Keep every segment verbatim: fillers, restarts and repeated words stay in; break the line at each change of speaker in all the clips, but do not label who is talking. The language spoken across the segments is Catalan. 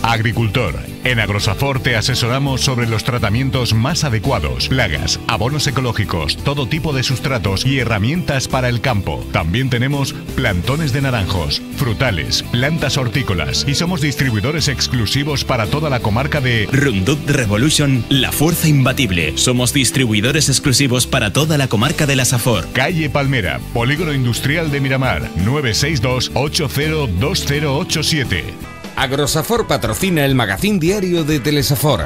Agricultor. En Agrosafor te asesoramos sobre los tratamientos más adecuados, plagas, abonos ecológicos, todo tipo de sustratos y herramientas para el campo. También tenemos plantones de naranjos, frutales, plantas hortícolas y somos distribuidores exclusivos para toda la comarca de
Roundup Revolution, la fuerza imbatible. Somos distribuidores exclusivos para toda la comarca de la Safor.
Calle Palmera, Polígono Industrial de Miramar, nueve seis dos, ocho cero dos cero ocho siete.
Agrosafor patrocina el magazín diario de Telesafor.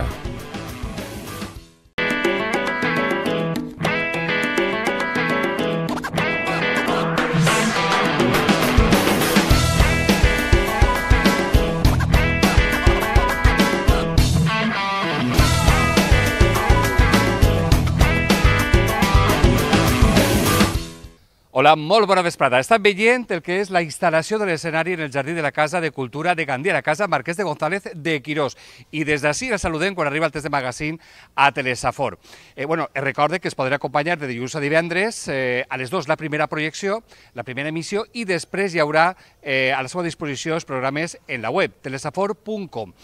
Hola, molt bona vesprada. Estan veient el que és la instal·lació de l'escenari en el Jardí de la Casa de Cultura de Gandia, la Casa Marquès de González de Quirós. I des d'ací la saludem quan arriba el test de magazín a Telesafor. Eh, bueno, recorde que es podrà acompanyar de dilluns a divendres eh, a les dues la primera projecció, la primera emissió, i després hi haurà eh, a la seva disposició els programes en la web, telesafor punt com.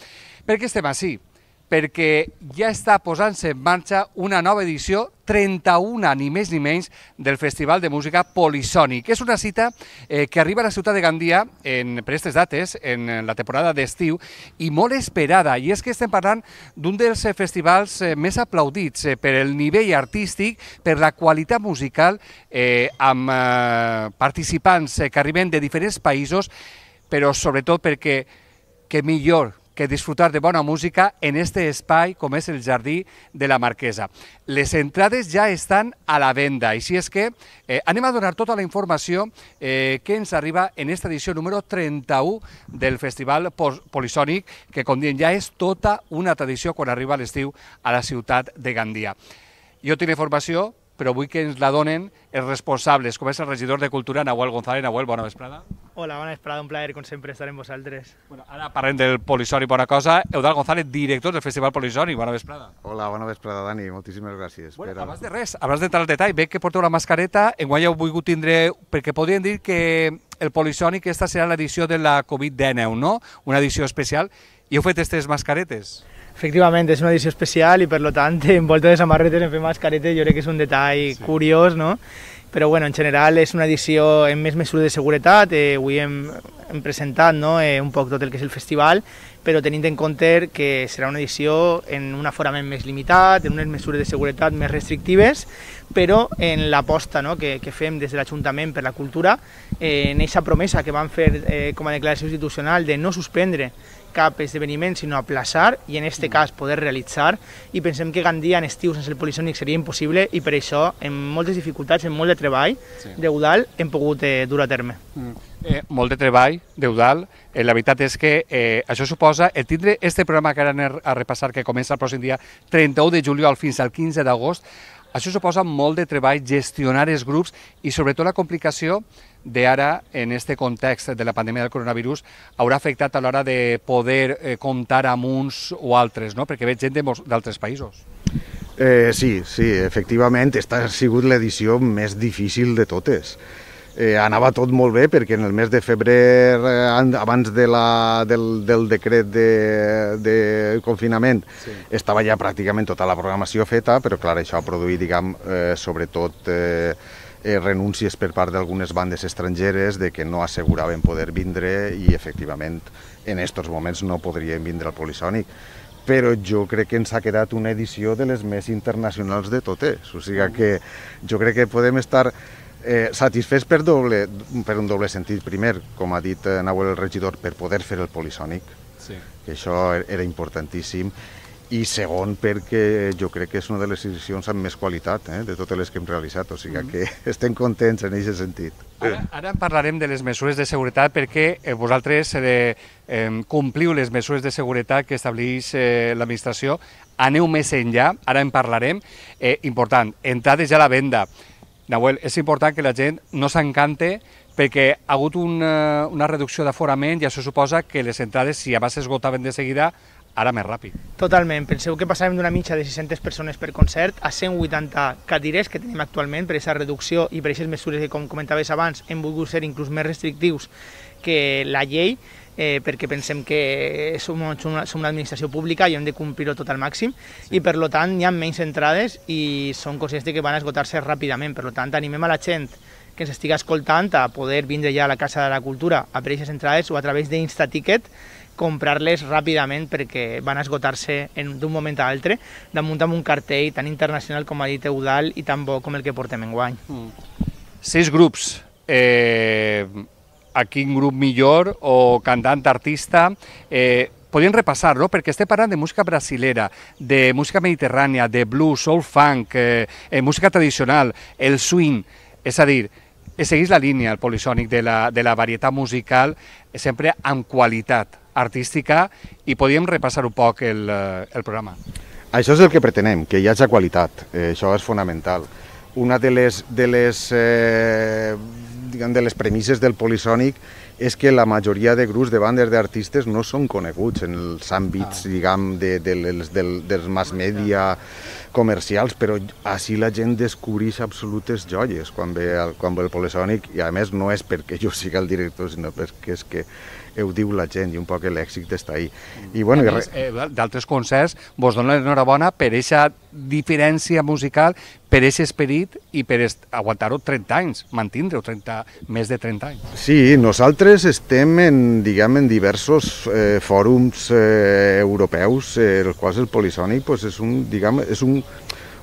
Per què estem així? Perquè ja està posant-se en marxa una nova edició, trenta-una, ni més ni menys, del Festival de Música Polisònic. És una cita eh, que arriba a la ciutat de Gandia en, per aquestes dates, en la temporada d'estiu, i molt esperada. I és que estem parlant d'un dels festivals eh, més aplaudits eh, per el nivell artístic, per la qualitat musical, eh, amb eh, participants eh, que arriben de diferents països, però sobretot perquè que millor que disfrutar de bona música en este espai com és el Jardí de la Marquesa. Les entrades ja estan a la venda, així és que eh, anem a donar tota la informació eh, que ens arriba en esta edició número trenta-u del Festival Polisònic, que com diem ja és tota una tradició quan arriba l'estiu a la ciutat de Gandia. Jo tinc informació, però vull que ens la donen els responsables, com és el regidor de Cultura, Nahuel González. Nahuel, bona vesprada.
Hola, bona vesprada, un plaer, com sempre, estar amb vosaltres.
Bueno, ara parlem del Polisònic, bona cosa. Eudald González, director del Festival Polisònic, bona vesprada.
Hola, bona vesprada, Dani, moltíssimes gràcies.
Bueno,
per...
abans de res, abans d'entrar al detall, veig que porteu la mascareta, enguany heu volgut tindre, perquè podríem dir que el Polisònic, aquesta serà l'edició de la Covid dinou, no? Una edició especial, i heu fet aquestes mascaretes.
Efectivament, és una edició especial i per tant, envolta de samarretes en fer mascaretes, jo crec que és un detall sí. curiós, no? Però bueno, en general és una edició amb més mesures de seguretat, eh, avui hem, hem presentat no? eh, un poc tot el que és el festival, però tenint en compte que serà una edició en un aforament més limitat, en unes mesures de seguretat més restrictives, però en l'aposta no? que, que fem des de l'Ajuntament per la Cultura, eh, en aquesta promesa que vam fer eh, com a declaració institucional de no suspendre cap esdeveniment, sinó aplaçar i en aquest cas poder realitzar, i pensem que Gandia en estiu sense el Polisònic seria impossible i per això, amb moltes dificultats, amb molt de treball sí. d'Eudald, hem pogut eh, dur a terme.
Mm. Eh, molt de treball d'Eudald, eh, la veritat és que eh, això suposa el tindre este programa que ara anem a repassar, que comença el pròxim dia trenta-u de juliol fins al quinze d'agost, això suposa molt de treball gestionar els grups i sobretot la complicació d'ara, en este context de la pandèmia del coronavirus, haurà afectat a l'hora de poder eh, comptar amb uns o altres, no? Perquè veig gent d'altres països.
Eh, sí, sí, efectivament, esta ha sigut l'edició més difícil de totes. Eh, anava tot molt bé perquè en el mes de febrer, eh, abans de la, del, del decret de, de confinament, sí. estava ja pràcticament tota la programació feta, però clar, això ha produït, diguem, eh, sobretot eh, eh, renúncies per part d'algunes bandes estrangeres de que no asseguraven poder vindre i efectivament en aquests moments no podrien vindre al Polisònic. Però jo crec que ens ha quedat una edició de les més internacionals de totes, o sigui que jo crec que podem estar Eh, satisfets per, doble, per un doble sentit. Primer, com ha dit eh, Nahuel el regidor, per poder fer el Polisònic, sí. que això era importantíssim, i segon, perquè jo crec que és una de les edicions amb més qualitat eh, de totes les que hem realitzat, o sigui mm. que estem contents en aquest sentit.
Ara, ara en parlarem de les mesures de seguretat perquè eh, vosaltres eh, eh, compliu les mesures de seguretat que estableix eh, l'administració, aneu més enllà, ara en parlarem. Eh, important, entrades ja a la venda. Nahuel, és important que la gent no s'encante perquè ha hagut una, una reducció d'aforament i això suposa que les entrades, si abans s'esgotaven de seguida, ara més ràpid.
Totalment. Penseu que passàvem d'una mitja de sis-centes persones per concert a cent vuitanta cadires que tenim actualment per aquesta reducció i per aquestes mesures que, com comentaves abans, hem volgut ser inclús més restrictius que la llei. eh, perquè pensem que som, som, una, som una administració pública i hem de complir-ho tot al màxim, sí. I per lo tant hi ha menys entrades i són conscients que van a esgotar-se ràpidament. Per lo tant, animem a la gent que ens estigui escoltant a poder vindre ja a la Casa de la Cultura a per aquestes entrades o a través d'Instaticket comprar-les ràpidament perquè van a esgotar-se d'un moment a l'altre damunt amb un cartell tan internacional com ha dit Eudal i tan bo com el que portem enguany.
Mm. Sis grups. Eh, a quin grup millor o cantant, artista, eh, podríem repassar, no? Perquè estem parlant de música brasilera, de música mediterrània, de blues, soul funk, eh, eh, música tradicional, el swing, és a dir, segueix la línia, el polisònic de la, de la varietat musical, sempre amb qualitat artística, i podríem repassar un poc el, el programa.
Això és el que pretenem, que hi hagi qualitat, eh, això és fonamental. Una de les, de les eh, diguem, de les premisses del polisònic és que la majoria de grups de bandes d'artistes no són coneguts en els àmbits, diguem, de, de les, del, dels mass media comercials, però així la gent descobreix absolutes joies quan ve el, quan ve el polisònic, i a més no és perquè jo sigui el director, sinó perquè és que ho diu la gent i un poc l'èxit està ahí. I, bueno,
a més, eh, d'altres concerts vos dono l'enhorabona per aquesta diferència musical, per aquest esperit i per aguantar-ho trenta anys, mantindre-ho més de trenta anys.
Sí, nosaltres estem en, diguem, en diversos eh, fòrums eh, europeus, eh, els quals el polisònic pues, és, un, diguem, és un,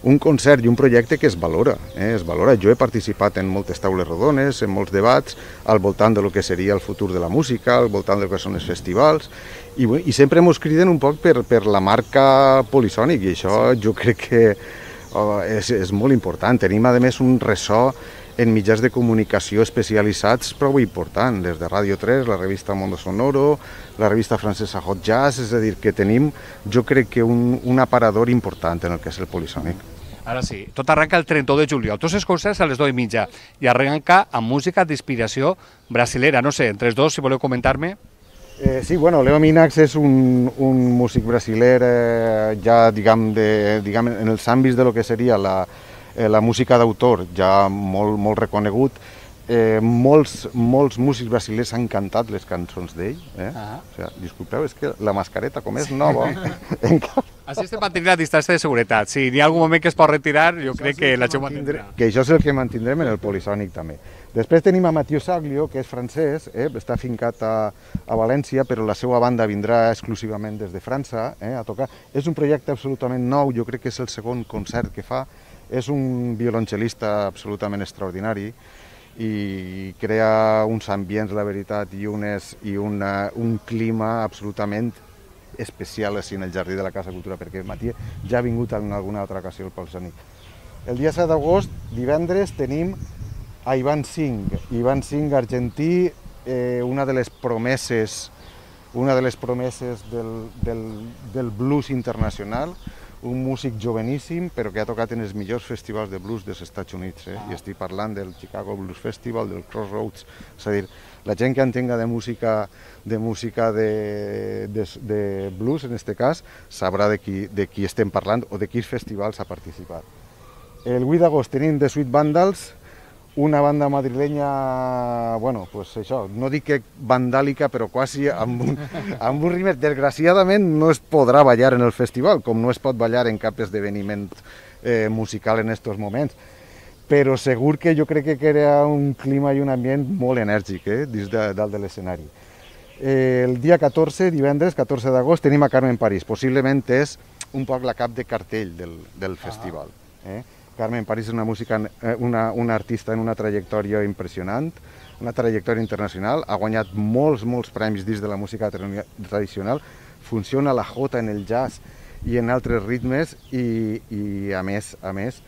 un concert i un projecte que es valora, eh, es valora. Jo he participat en moltes taules rodones, en molts debats, al voltant de lo que seria el futur de la música, al voltant del que són els festivals, i, i sempre ens criden un poc per, per la marca polisònic, i això sí. Jo crec que oh, és, és molt important. Tenim, a més, un ressò en mitjans de comunicació especialitzats prou important, des de Ràdio tres, la revista Mondo Sonoro, la revista francesa Hot Jazz, és a dir, que tenim, jo crec que un, un aparador important en el que és el polisònic.
Ara sí, tot arranca el trenta-u de juliol, tots els concerts a les dues i mitja, i arranca amb música d'inspiració brasilera. No sé, entre els dos, si voleu comentar-me.
Eh, sí, bueno, Leo Minax és un, un músic brasiler eh, ja, diguem, de, diguem, en els àmbits de lo que seria la, eh, la música d'autor, ja molt, molt reconegut. Eh, molts, molts músics brasilers han cantat les cançons d'ell. Eh? Ah. O sigui, disculpeu, és que la mascareta, com és nova, encara...
Així estem mantenint la distància de seguretat. Si hi ha algun moment que es pot retirar, jo crec que la gent mantindrà.
Que això és el que mantindrem en el polisònic també. Després tenim a Mathieu Saglio, que és francès, eh? està fincat a, a València, però la seva banda vindrà exclusivament des de França eh? a tocar. És un projecte absolutament nou, jo crec que és el segon concert que fa. És un violoncel·lista absolutament extraordinari i crea uns ambients, la veritat, i, unes, i una, un clima absolutament especial així en el jardí de la Casa Cultura, perquè Mathieu ja ha vingut en alguna altra ocasió al polisònic. El dia set d'agost, divendres, tenim a Ivan Singh. Ivan Singh, argentí, eh, una de les promeses, una de les promeses del, del, del blues internacional, un músic joveníssim, però que ha tocat en els millors festivals de blues dels Estats Units. Eh? I estic parlant del Chicago Blues Festival, del Crossroads, és a dir, la gent que entenga de música de música de, de, de blues, en aquest cas, sabrà de qui, de qui estem parlant o de quins festivals ha participat. El vuit d'agost tenim The Sweet Vandals, una banda madrilenya, bueno, pues això, no dic que vandàlica, però quasi amb un, amb un ritme. Desgraciadament no es podrà ballar en el festival, com no es pot ballar en cap esdeveniment eh, musical en aquests moments. Però segur que jo crec que crea un clima i un ambient molt enèrgic eh, dins de, dalt de l'escenari. Eh, el dia catorze, divendres, catorze d'agost, tenim a Carmen París. Possiblement és un poc la cap de cartell del, del festival. Eh? Carmen París és una, música, una, una artista en una trajectòria impressionant, una trajectòria internacional, ha guanyat molts, molts premis dins de la música tradicional, funciona la jota en el jazz i en altres ritmes i, i a més, a més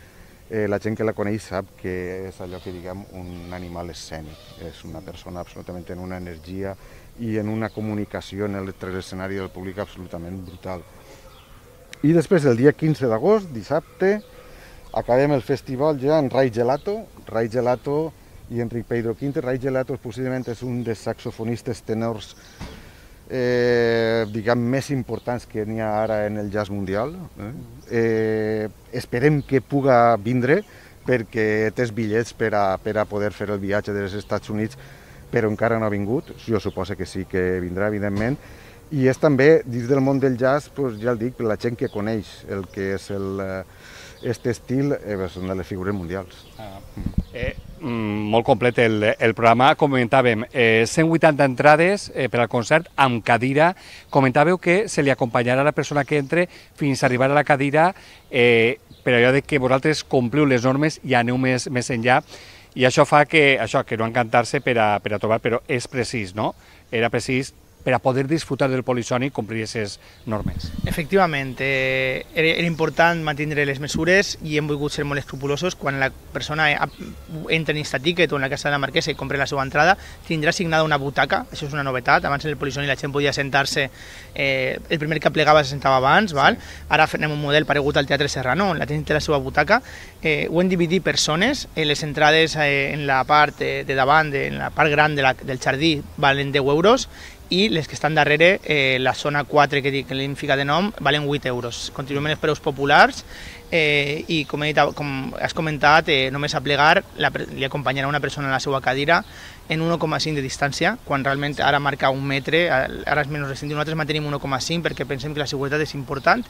eh, la gent que la coneix sap que és allò que diguem un animal escènic, és una persona absolutament en una energia i en una comunicació en l'escenari del públic absolutament brutal. I després el dia quinze d'agost, dissabte, acabem el festival ja en Ray Gelato, Ray Gelato i Enric Pedro Quinte. Ray Gelato possiblement és un dels saxofonistes tenors eh, diguem, més importants que n'hi ha ara en el jazz mundial. Eh? Eh, esperem que puga vindre perquè té els bitllets per a, per a poder fer el viatge dels Estats Units però encara no ha vingut, jo suposo que sí que vindrà, evidentment, i és també, dins del món del jazz, doncs, ja el dic, la gent que coneix el que és el, aquest estil, eh, són de les figures mundials.
Ah. Eh, mm, molt complet el, el programa. Comentàvem eh, cent vuitanta entrades eh, per al concert amb cadira. Comentàveu que se li acompanyarà la persona que entre fins a arribar a la cadira, eh, per allò de que vosaltres compliu les normes i aneu més, més enllà. I això fa que, això, que no encantar-se per a, per a trobar, però és precís, no? Era precís per a poder disfrutar del polisònic complir aquestes normes.
Efectivament, eh, era, era important mantenir les mesures i hem volgut ser molt escrupulosos. Quan la persona entra en aquest tiquet o en la casa de la marquesa i compra la seva entrada, tindrà assignada una butaca, això és una novetat. Abans en el polisònic la gent podia sentar-se, eh, el primer que plegava se sentava abans, val? Sí. Ara fem un model paregut al Teatre Serrano, on la gent té la seva butaca. Eh, ho hem dividit per zones, eh, les entrades eh, en la part eh, de davant, de, en la part gran de la, del jardí, valen deu euros, i les que estan darrere, eh, la zona quatre que dic, que l'hem ficat de nom, valen vuit euros. Continuem els preus populars eh, i com, he dit, com has comentat, eh, només a plegar la, li acompanyarà una persona a la seva cadira en un coma cinc de distància, quan realment ara marca un metre, ara és menys recent, nosaltres mantenim un coma cinc perquè pensem que la seguretat és important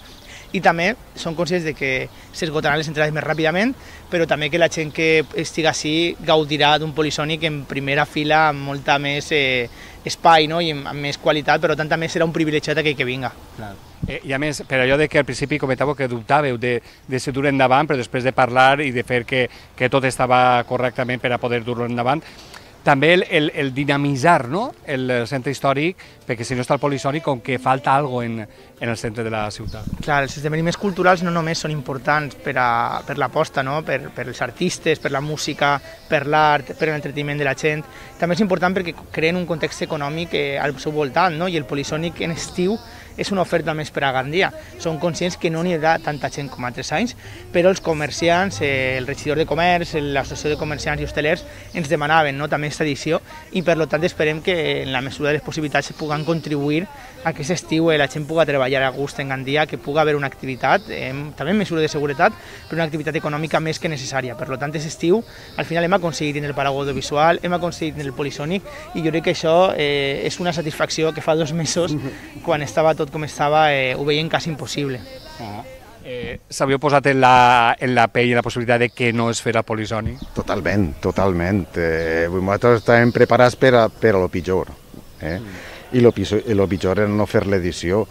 i també són conscients de que s'esgotaran les entrades més ràpidament, però també que la gent que estigui així gaudirà d'un polisònic en primera fila amb molta més eh, espai, no? I amb més qualitat, però tant també serà un privilegiat aquell que vinga.
Clar. Eh, I a més, per allò de que al principi comentàveu que dubtàveu de, de si dur endavant, però després de parlar i de fer que, que tot estava correctament per a poder dur-lo endavant, també el, el, el dinamitzar, no? El centre històric, perquè si no està el polisònic, com que falta alguna cosa en, en el centre de la ciutat.
Clar, els esdeveniments culturals no només són importants per, a, per l'aposta, no? per, per els artistes, per la música, per l'art, per l'entreteniment de la gent, també és important perquè creen un context econòmic eh, al seu voltant, no? I el polisònic en estiu és una oferta més per a Gandia. Som conscients que no n'hi haurà tanta gent com altres anys, però els comerciants, eh, el regidor de comerç, l'associació de comerciants i hostelers ens demanaven, no, també aquesta edició i per tant esperem que en la mesura de les possibilitats es puguen contribuir a que aquest estiu eh, la gent pugui treballar a gust en Gandia, que pugui haver una activitat, eh, també en mesura de seguretat, però una activitat econòmica més que necessària. Per tant, aquest estiu al final hem aconseguit en el paraigua audiovisual, hem aconseguit en el polisònic i jo crec que això eh, és una satisfacció que fa dos mesos, quan estava tot com estava, eh, ho veiem quasi impossible.
Ah. Eh, S'havíeu posat en la, en la pell la possibilitat de que no es fera polisònic?
Totalment, totalment. Eh, nosaltres estàvem preparats per a, per a lo pitjor. Eh? Mm. I lo, lo pitjor era no fer l'edició.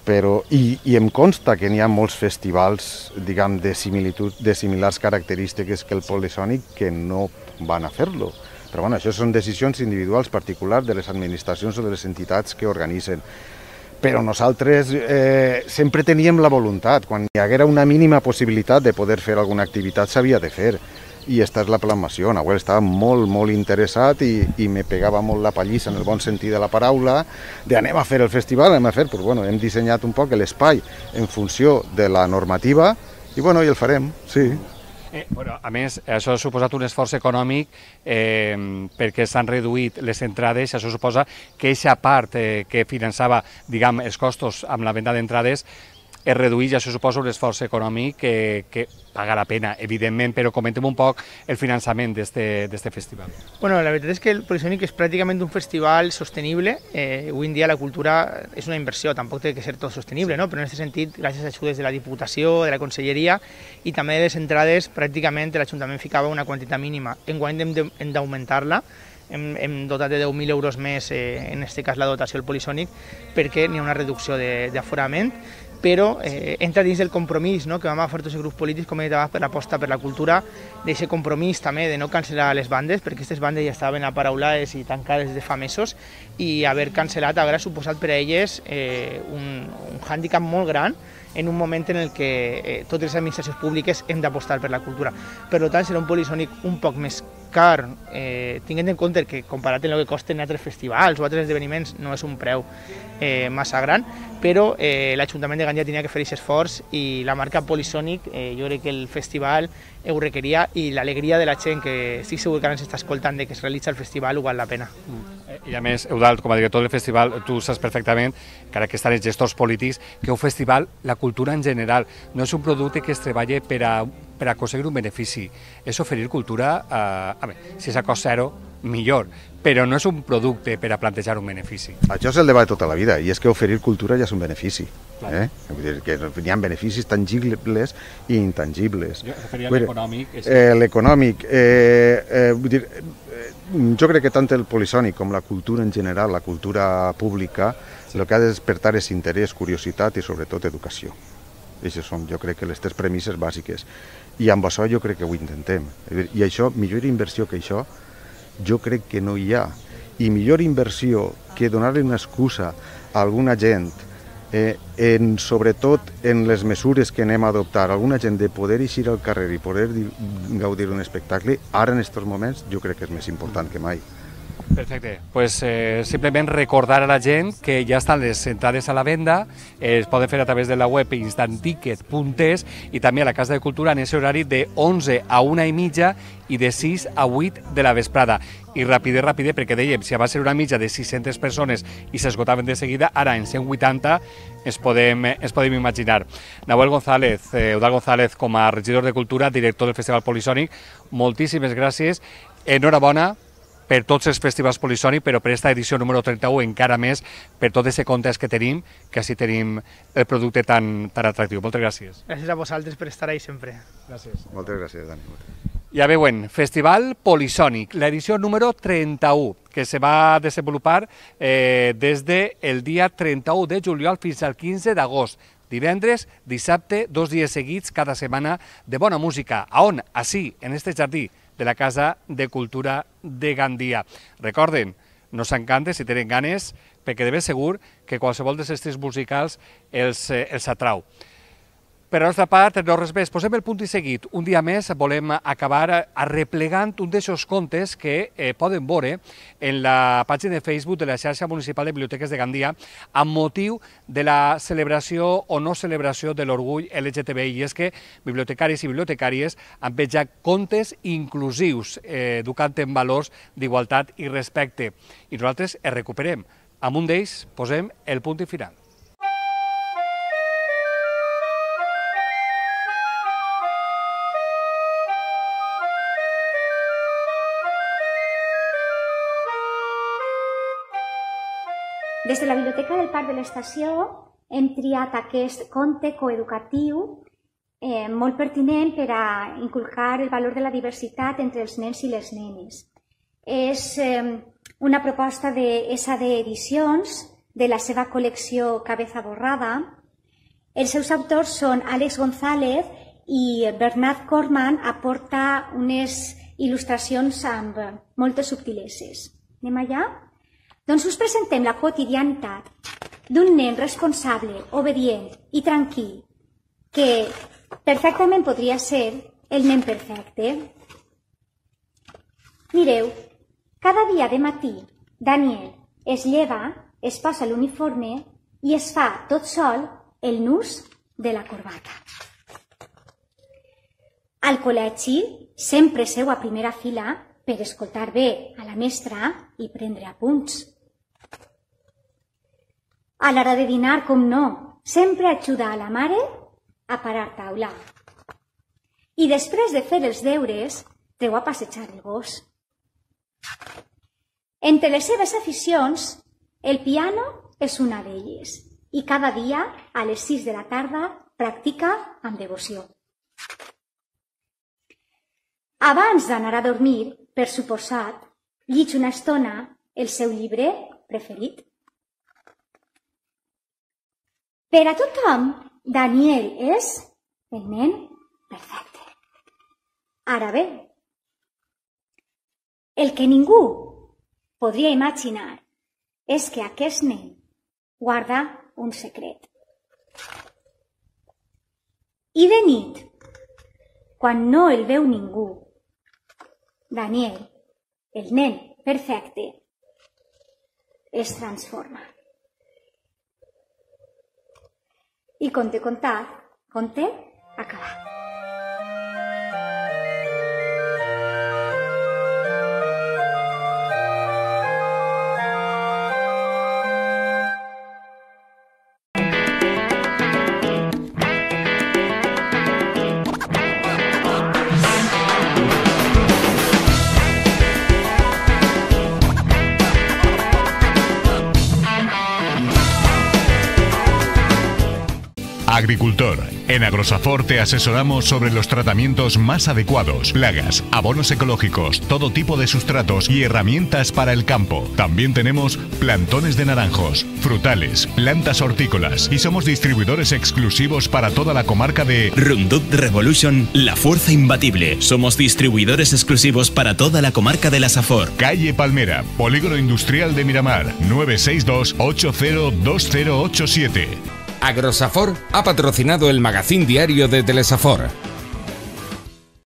Però, i, i em consta que n'hi ha molts festivals, diguem, de, similitud, de similars característiques que el polisònic que no van a fer-lo. Però bueno, això són decisions individuals particulars de les administracions o de les entitats que organitzen. Però nosaltres eh, sempre teníem la voluntat, quan hi haguera una mínima possibilitat de poder fer alguna activitat s'havia de fer. I aquesta és la plasmació. Nahuel estava molt, molt interessat i, i me pegava molt la pallissa en el bon sentit de la paraula de anem a fer el festival, anem a fer, però bueno, hem dissenyat un poc l'espai en funció de la normativa i bueno, i el farem, sí.
Eh, bueno, a més, això ha suposat un esforç econòmic eh, perquè s'han reduït les entrades, això suposa que aquesta part eh, que finançava, diguem, els costos amb la venda d'entrades es reduït i això suposa un esforç econòmic que, que paga la pena, evidentment, però comentem un poc el finançament d'aquest festival.
Bueno, la veritat és que el Polisònic és pràcticament un festival sostenible. Eh, avui en dia la cultura és una inversió, tampoc té que ser tot sostenible, no? Però en aquest sentit, gràcies a ajudes de la Diputació, de la Conselleria i també de les entrades, pràcticament l'Ajuntament ficava una quantitat mínima. Enguany hem d'augmentar-la, hem, hem dotat de deu mil euros més, eh, en aquest cas la dotació del Polisònic, perquè n'hi ha una reducció d'aforament, però eh, entra dins del compromís, no?, que vam agafar tots els grups polítics, com he dit abans, per l'aposta per la cultura, d'aquest compromís també de no cancel·lar les bandes, perquè aquestes bandes ja estaven aparaulades i tancades des de fa mesos, i haver cancel·lat haurà suposat per a elles eh, un, un hàndicap molt gran en un moment en el que eh, totes les administracions públiques hem d'apostar per la cultura. Per tant, serà un Polisònic un poc més car, eh, tinguent en compte que comparat amb el que costen altres festivals o altres esdeveniments no és un preu eh, massa gran, però eh, l'Ajuntament de Gandia tenia que fer aquest esforç i la marca Polisònic, eh, jo crec que el festival ho requeria i l'alegria de la gent, que estic segur que ara ens està escoltant de que es realitza el festival, ho val la pena.
Mm. I a més, Eudald, com a director del festival, tu saps perfectament, encara que estan els gestors polítics, que un festival, la cultura en general, no és un producte que es treballa per a, per a aconseguir un benefici, és oferir cultura, a, a veure, si és a cost zero, millor, però no és un producte per a plantejar un benefici.
Això és el debat de tota la vida, i és que oferir cultura ja és un benefici. Eh? Vull dir que hi ha beneficis tangibles i intangibles.
Jo referia a l'econòmic.
Eh, L'econòmic, eh, eh, vull dir, eh, jo crec que tant el polisònic com la cultura en general, la cultura pública, sí. El que ha de despertar és interès, curiositat i sobretot educació. Aquestes són, jo crec, que les tres premisses bàsiques. I amb això jo crec que ho intentem. I això, millor inversió que això, jo crec que no hi ha. I millor inversió que donar-li una excusa a alguna gent, eh, en, sobretot en les mesures que anem a adoptar, alguna gent de poder eixir al carrer i poder gaudir d'un espectacle, ara en aquests moments jo crec que és més important que mai.
Perfecte, pues eh, simplement recordar a la gent que ja estan les entrades a la venda, eh, es poden fer a través de la web instant ticket punt es i també a la Casa de Cultura en aquest horari de onze a una i mitja i de sis a vuit de la vesprada. I ràpide, ràpide, perquè dèiem, si va ser una mitja de sis-centes persones i s'esgotaven de seguida, ara en cent vuitanta ens podem, ens podem imaginar. Nahuel González, eh, Eudald González, com a regidor de Cultura, director del Festival Polisònic, moltíssimes gràcies, enhorabona per tots els festivals Polisònic, però per aquesta edició número trenta-u encara més per tot aquest context que tenim, que així tenim el producte tan, tan atractiu. Moltes gràcies.
Gràcies a vosaltres per estar ahí sempre.
Gràcies.
Moltes gràcies, Dani.
Ja veuen, Festival Polisònic, l'edició número trenta-u, que se va desenvolupar eh, des del dia trenta-u de juliol fins al quinze d'agost. Divendres, dissabte, dos dies seguits, cada setmana de bona música. A on? Així, en este jardí de la Casa de Cultura de Gandia. Recorden, no s'encanten si tenen ganes, perquè de ben segur que qualsevol dels estils musicals els, eh, els atrau. Per la nostra part, no res més, posem el punt i seguit. Un dia més volem acabar arreplegant un d'aquests contes que eh, poden veure en la pàgina de Facebook de la xarxa municipal de biblioteques de Gandia amb motiu de la celebració o no celebració de l'orgull L G T B I. I és que bibliotecaris i bibliotecàries han penjat contes inclusius, eh, educant en valors d'igualtat i respecte. I nosaltres els recuperem. Amb un d'ells posem el punt i final.
Des de la Biblioteca del Parc de l'Estació hem triat aquest conte coeducatiu eh, molt pertinent per a inculcar el valor de la diversitat entre els nens i les nenes. És eh, una proposta de S A D Edicions, de la seva col·lecció Cabeza Borrada. Els seus autors són Àlex González i Bernat Corman aporta unes il·lustracions amb moltes subtileses. Anem allà? Doncs us presentem la quotidianitat d'un nen responsable, obedient i tranquil, que perfectament podria ser el nen perfecte. Mireu, cada dia de matí Daniel es lleva, es posa l'uniforme i es fa tot sol el nus de la corbata. Al col·legi sempre seu a primera fila per escoltar bé a la mestra i prendre apunts. A l'hora de dinar, com no, sempre ajuda a la mare a parar taula. I després de fer els deures, treu a passejar el gos. Entre les seves aficions, el piano és una d'elles i cada dia, a les sis de la tarda, practica amb devoció. Abans d'anar a dormir, per suposat, llig una estona el seu llibre preferit. Per a tothom, Daniel és el nen perfecte. Ara bé, el que ningú podria imaginar és que aquest nen guarda un secret. I de nit, quan no el veu ningú, Daniel, el nen perfecte, es transforma. I conte contat, conte acabat.
Agricultor. En Agrosafor te asesoramos sobre los tratamientos más adecuados, plagas, abonos ecológicos, todo tipo de sustratos y herramientas para el campo. También tenemos plantones de naranjos, frutales, plantas hortícolas y somos distribuidores exclusivos para toda la comarca de
Roundup Revolution, la fuerza imbatible. Somos distribuidores exclusivos para toda la comarca de la Safor.
Calle Palmera, Polígono Industrial de Miramar, nueve seis dos, ocho cero dos cero ocho siete.
Agrosafor ha patrocinado el magazín diario de Telesafor.